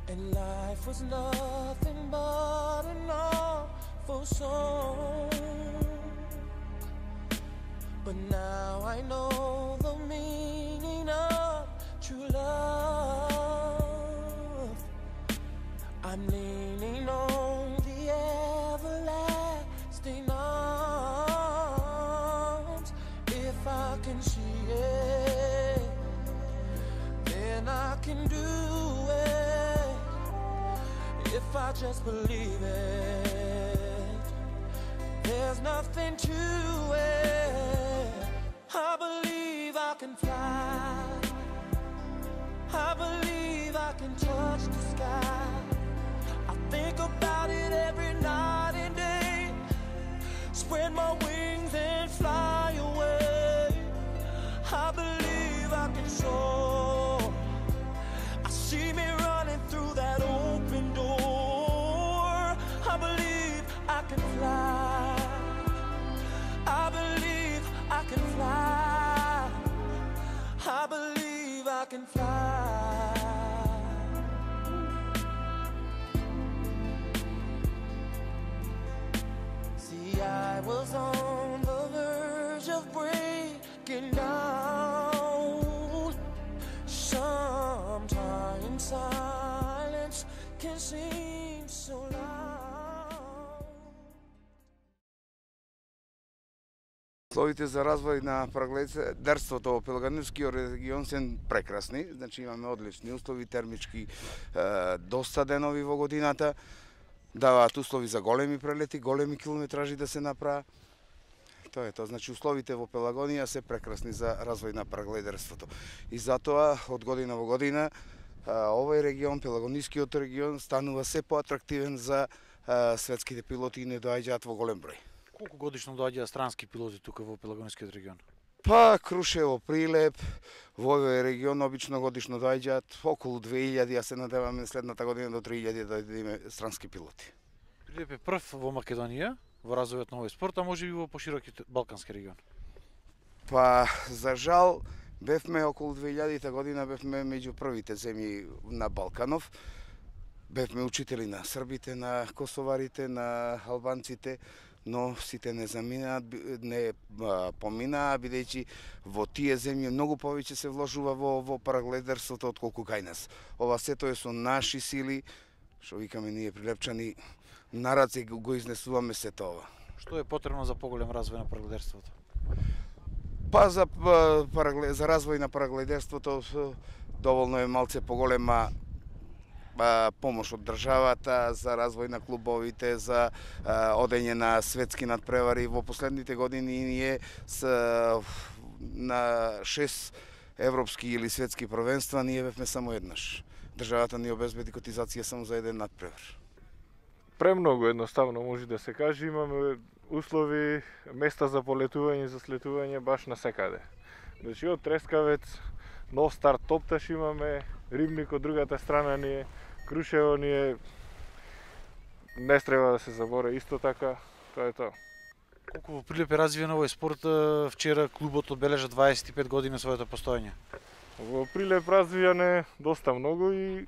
And life was nothing but an awful song. But now I know the meaning of true love. I'm leaning on the everlasting arms. If I can see it, then I can do it. If I just believe it, there's nothing to it. I believe I can fly. I believe I can touch the sky. I think about it every night and day. Spread my wings and fly away. I believe I can soar. I see me running through that open door. I believe I can fly. I believe I can fly. I believe I can fly. See, I was on the verge of breaking down. Sometimes silence can seem so loud. Условите за развој на парагледерството во Пелагонискиот регион се прекрасни, значи имаме одлични услови, термички доста денови во годината, даваат услови за големи прелети, големи километражи да се направи. Тоа е тоа, значи условите во Пелагонија се прекрасни за развој на парагледерството. И затоа од година во година овој регион, Пелагонискиот регион, станува се поатрактивен за светските пилоти и не доаѓаат во голем број. Колку годишно доаѓаат странски пилоти тука во Пелагонискиот регион? Па Крушево, Прилеп, во овој регион обично годишно доаѓаат околу 2000, а се надеваме следната година до 3000 да имаме странски пилоти. Прилеп е прв во Македонија во развојот на овој спорт, а може би во поширокиот балкански регион. Па за жал бевме околу 2000 година бевме меѓу првите земји на Балканов. Бевме учители на србите, на косоварите, на албанците, но сите не поминаа, бидејќи во тие земји многу повеќе се вложува во парагледерството отколку кај нас. Ова сето е со наши сили, што викаме ние прилепчани, на раце го изнесуваме сето ова. Што е потребно за поголем развој на парагледерството? Па за развој на парагледерството доволно е малце поголема помош од државата за развој на клубовите, за одење на светски надпревари. Во последните години ние на 6 европски или светски првенства ние бевме само еднаш. Државата ни обезбеди котизација само за еден надпревар. Премногу едноставно може да се каже, имаме услови, места за полетување, за слетување баш на секаде. Значи од Трескавец, Нов Старт, Топташ имаме, Рибник од другата страна ни е, Крушево ни е, не треба да се заборе исто така, тоа е тоа. Колку во Прилеп е развиен овој спорт, вчера клубот одбележа 25 години своето постоење. Во Прилеп развиен е доста многу и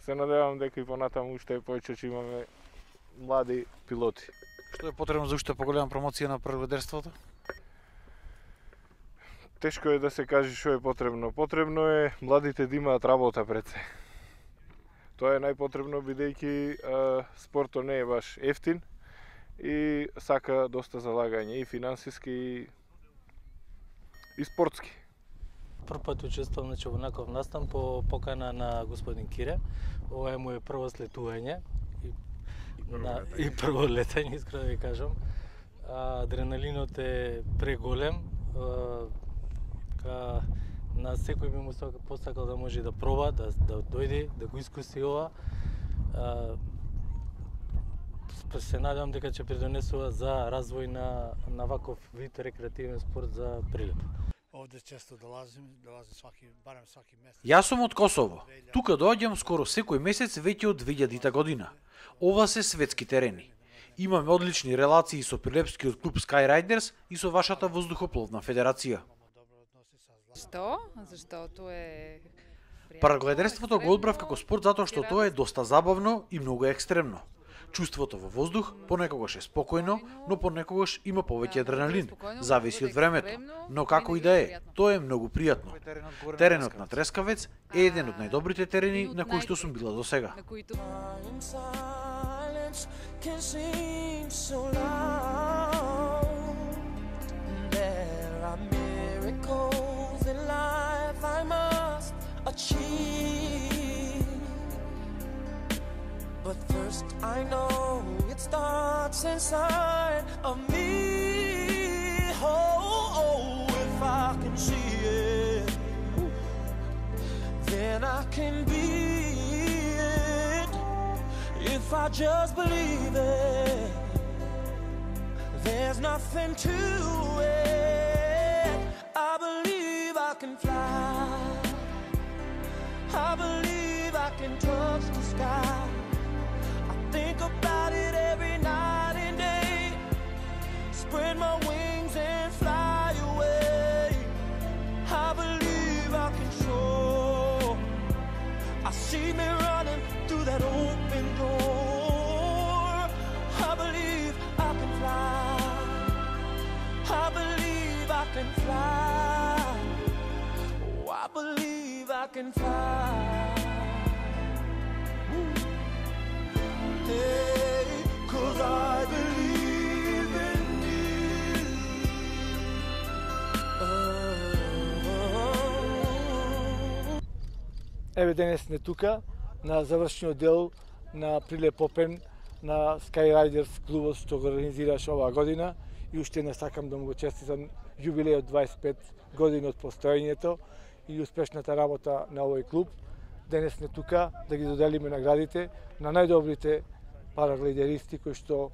се надевам дека и понатаму уште повеќе ќе имаме млади пилоти. Што е потребно за уште поголема промоција на парагледерството? Тешко е да се каже што е потребно. Потребно е младите да имаат работа пред се. Тоа е најпотребно бидејќи спортот не е баш ефтин и сака доста залагање и финансиски и спортски. Прв пат учествувам во наков настан по покана на господин Кире. Ова е моје прво слетување и прво летање, искрено да ви кажам. Адреналинот е преголем. На секој би му посакал да може да проба, да дојде, да го искуси ова. Се надевам дека ќе придонесува за развој на ваков вид рекреативен спорт за Прилеп. Овде често долазим барем сваки месец. Јас сум од Косово. Тука доаѓам скоро секој месец веќе од 2000 година. Ова се светски терени. Имаме одлични релации со прилепскиот клуб Sky Riders и со вашата воздухопловна федерација. Што? Заштото е Параглайдерството го одбрав како спорт затоа што тоа е доста забавно и многу екстремно. Чувството во воздух понекогаш е спокојно, но понекогаш има повеќе адреналин, зависи од времето. Но како и да е, тоа е многу пријатно. Теренот на Трескавец е еден од најдобрите терени на кои што сум била досега. But first I know it starts inside of me. Oh, if I can see it, then I can be it. If I just believe it, there's nothing to it. I believe I can fly. I believe I can touch the sky. Think about it every night and day. Spread my wings and fly away. I believe I can soar. I see me running through that open door. I believe I can fly. I believe I can fly. Oh, I believe I can fly. Hey, 'cause I believe in you. Еве денес сме тука на завршниот дел на Прилеп Опен на Skyriders клубот што го организираш оваа година и уште не сакам да му го честитам јубилејот 25 години од постоењето и успешната работа на овој клуб. Денес сме тука да ги доделиме наградите на најдобрите параглайдеристи кои што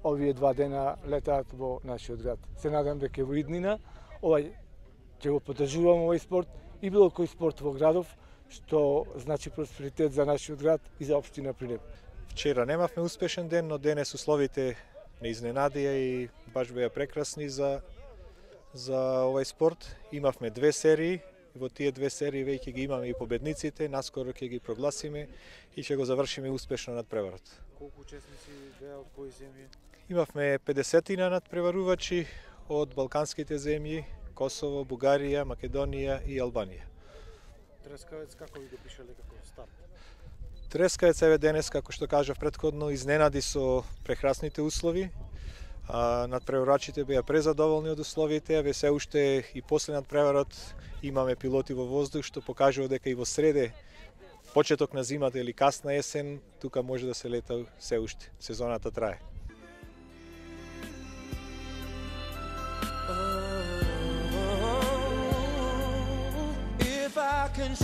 овие 2 дена летаат во нашиот град. Се надам дека во иднина овај ќе го поддржуваме овој спорт и било кој спорт во градов што значи просперитет за нашиот град и за општина Прилеп. Вчера немавме успешен ден, но денес условите не изненадија и баш беа прекрасни за овој спорт. Имавме 2 серии. Во тие 2 серии веќе ги имаме и победниците, наскоро ќе ги прогласиме и ќе го завршиме успешно надпреварот. Колку учесници беа од кои земји? Имавме 50 надпреварувачи од балканските земји, Косово, Бугарија, Македонија и Албанија. Трескавец како ви го пишале како старт? Трескавец еве денес, како што кажав претходно, изненади со прекрасните услови. Надпреварувачите беа презадоволни од условите, еве се уште и после надпреварот имаме пилоти во воздух што покажува дека и во среде, почеток на зимата или касна есен, тука може да се лета се уште. Сезоната трае. If I can